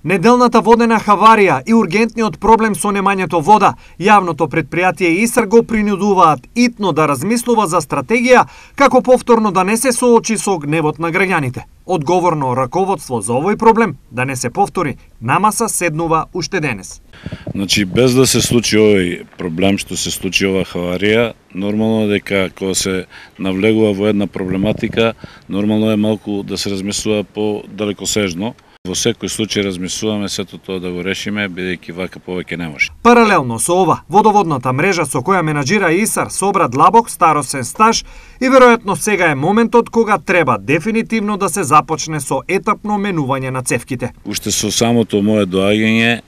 Неделната водена хаварија и ургентниот проблем со немањето вода, јавното предпријатие ИСАР го принудуваат итно да размислува за стратегија како повторно да не се соочи со гневот на граѓаните. Одговорно раководство за овој проблем да не се повтори, на маса седнува уште денес. Значи, без да се случи овој проблем што се случи оваа хаварија, нормално е дека кога се навлегува во една проблематика, нормално е малку да се размислува по-далекосежно. Во секој случај размислуваме сето тоа да го решиме, бидејќи вака повеќе не може. Паралелно со ова, водоводната мрежа со која менаџира ИСАР собра длабок старосен стаж и веројатно сега е моментот кога треба дефинитивно да се започне со етапно менување на цевките. Уште со самото мое доаѓање,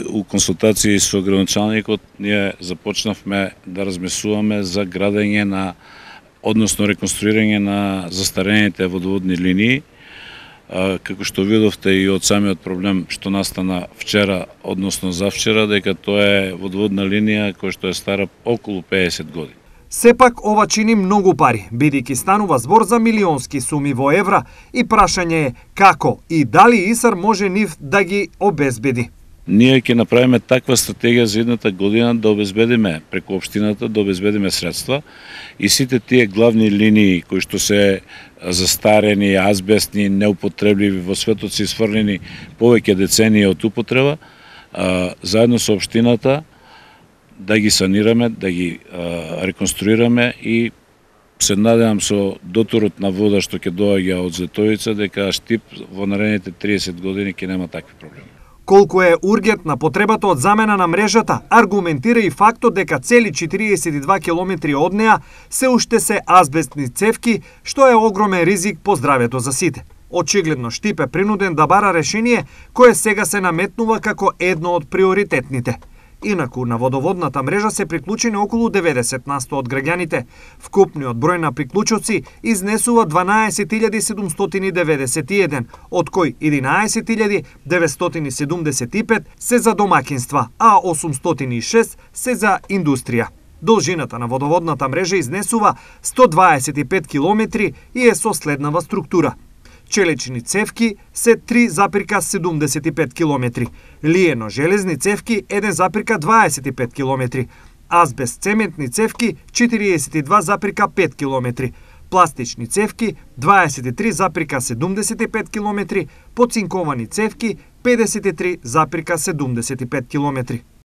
у консултации со градоначалникот, ние започнавме да размислуваме за градење на, односно реконструирање на застарените водоводни линии. Како што видовте и од самиот проблем што настана вчера, односно завчера, дека тоа е водоводна линија која што е стара околу 50 години. Сепак ова чини многу пари, бидејќи станува збор за милионски суми во евра и прашање е како и дали ИСАР може нив да ги обезбеди. Ние ќе направиме таква стратегија за едната година да обезбедиме преку општината, да обезбедиме средства и сите тие главни линии кои што се застарени, азбестни, неупотребливи, во светот се изфрлени повеќе децении од употреба, заедно со општината да ги санираме, да ги реконструираме и се надевам со доторот на вода што ќе доаѓа од Зетовица дека Штип во наредните 30 години ќе нема такви проблеми. Колку е ургентна потребата од замена на мрежата, аргументира и фактот дека цели 42 километри од неа се уште се азбестни цевки, што е огромен ризик по здравјето за сите. Очигледно Штип е принуден да бара решение кое сега се наметнува како едно од приоритетните. Инаку на водоводната мрежа се приклучени околу 90% од граѓаните. Вкупниот број на приклучоци изнесува 12.791, од кој 11.975 се за домакинства, а 806 се за индустрија. Должината на водоводната мрежа изнесува 125 километри и е со следнава структура. Челечни цевки се 3,75 километри, лиено-железни цевки 1,25 километри, азбест-цементни цевки 42,5 километри, пластични цевки 23,75 километри, поцинковани цевки 53,75 километри.